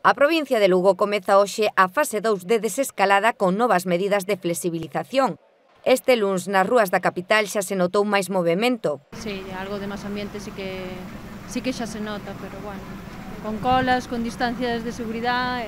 A provincia de Lugo comeza hoxe a fase 2 de desescalada con novas medidas de flexibilización. Este luns nas rúas da capital xa se notou máis movimento. Sí, algo de máis ambiente sí que xa se nota, pero bueno, con colas, con distancias de seguridade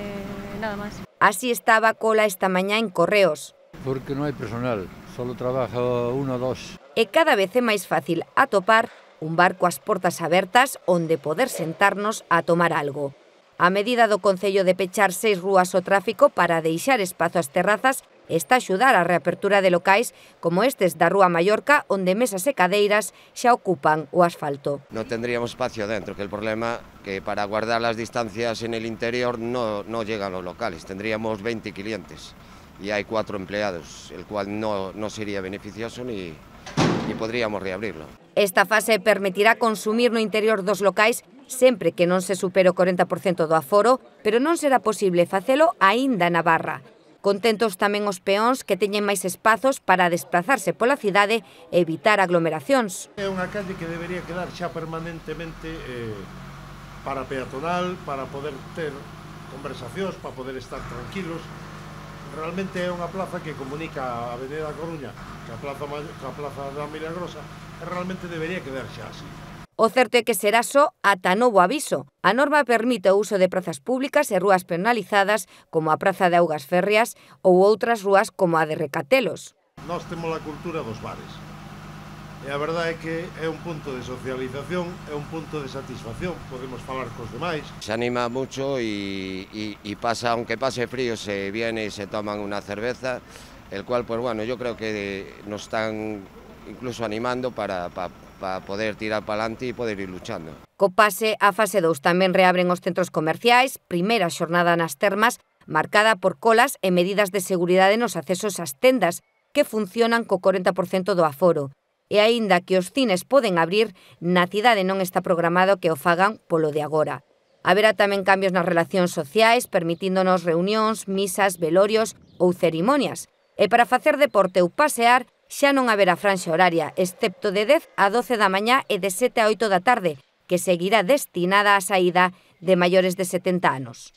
nada máis. Así estaba a cola esta mañá en Correos. Porque non hai personal, solo trabaja uno ou dos. E cada vez é máis fácil atopar un bar coas portas abertas onde poder sentarnos a tomar algo. A medida do Concello de pechar 6 rúas ao tráfico para deixar espazo ás terrazas está a axudar a reapertura de locais como estes da Rúa Mallorca, onde mesas e cadeiras xa ocupan o asfalto. No tendríamos espacio dentro, que el problema que para guardar las distancias en el interior no llegan los locales. Tendríamos 20 clientes y hay 4 empleados, el cual no sería beneficioso ni podríamos reabrirlo. Esta fase permitirá consumir no interior dos locais sempre que non se supere o 40% do aforo, pero non será posible facelo aínda na barra. Contentos tamén os peóns que teñen máis espazos para desplazarse pola cidade e evitar aglomeracións. É unha calle que debería quedar xa permanentemente para peatonal, para poder ter conversacións, para poder estar tranquilos. Realmente é unha plaza que comunica a Avenida da Coruña ca plaza da Milagrosa e realmente debería quedar xa así. O certo é que será só ata novo aviso. A norma permite o uso de prazas públicas e rúas penalizadas como a Praza de Augas Férreas ou outras rúas como a de Recatelos. Nós temos a cultura dos bares. E a verdade é que é un punto de socialización, é un punto de satisfacción, podemos falar cos demais. Se anima mucho y pasa, aunque pase frío, se viene y se toman una cerveza, el cual, pues bueno, yo creo que nos están incluso animando para poder tirar para adelante e poder ir luchando. Co pase a fase 2 tamén reabren os centros comerciais, primeira xornada nas termas, marcada por colas e medidas de seguridade nos accesos ás tendas, que funcionan co 40% do aforo. E aínda que os cines poden abrir, na cidade non está programado que o fagan polo de agora. Haberá tamén cambios nas relacións sociais, permitíndonos reunións, misas, velorios ou cerimonias. E para facer deporte ou pasear, xa non haberá franxa horaria, excepto de 10 a 12 da mañá e de 7 a 8 da tarde, que seguirá destinada á saída de maiores de 70 anos.